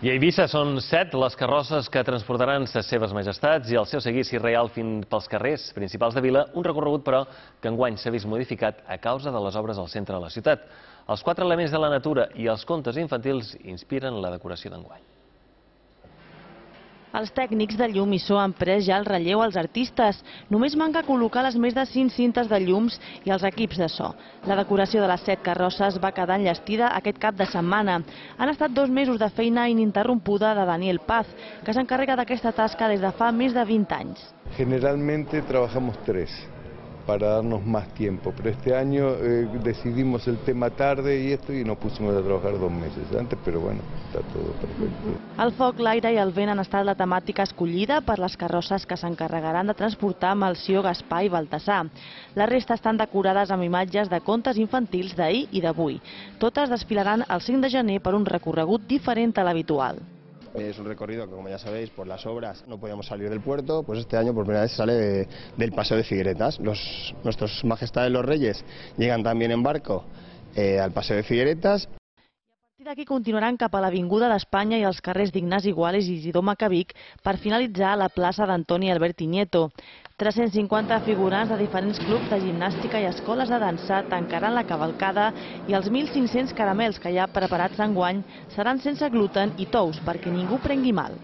I a Eivissa són 7 les carrosses que transportaran ses seves majestats i el seu seguici reial fins pels carrers principals de Vila, un recorregut, però, que enguany s'ha vist modificat a causa de les obres al centre de la ciutat. Els 4 elements de la natura i els contes infantils inspiren la decoració d'enguany. Els tècnics de llum i so han pres ja el relleu als artistes. Només manca col·locar les més de 5 cintes de llums i els equips de so. La decoració de les 7 carrosses va quedar enllestida aquest cap de setmana. Han estat 2 mesos de feina ininterrompuda de Daniel Paz, que s'encarrega d'aquesta tasca des de fa més de 20 anys. Generalmente trabajamos 3 para darnos más tiempo, pero este año decidimos el tema tarde y nos pusimos a trabajar 2 meses antes, pero bueno, está todo perfecto. El foc, l'aire i el vent han estat la temàtica escollida per les carrosses que s'encarregaran de transportar Melcior, Gaspar i Baltasar. La resta estan decorades amb imatges de contes infantils d'ahir i d'avui. Totes desfilaran el 5 de gener per un recorregut diferent a l'habitual. Es un recorrido que, como ya sabéis, por las obras no podíamos salir del puerto, pues este año por primera vez sale del Paseo de Figueretas. Nuestros majestades los reyes llegan también en barco al Paseo de Figueretas. A partir d'aquí continuaran cap a l'Avinguda d'Espanya i els carrers d'Ignasi Guales i Isidor Macavic per finalitzar a la plaça d'Antoni Alberti Nieto. 350 figurants de diferents clubs de gimnàstica i escoles de dansa tancaran la cavalcada i els 1.500 caramels que hi ha preparats enguany seran sense gluten i tous perquè ningú prengui mal.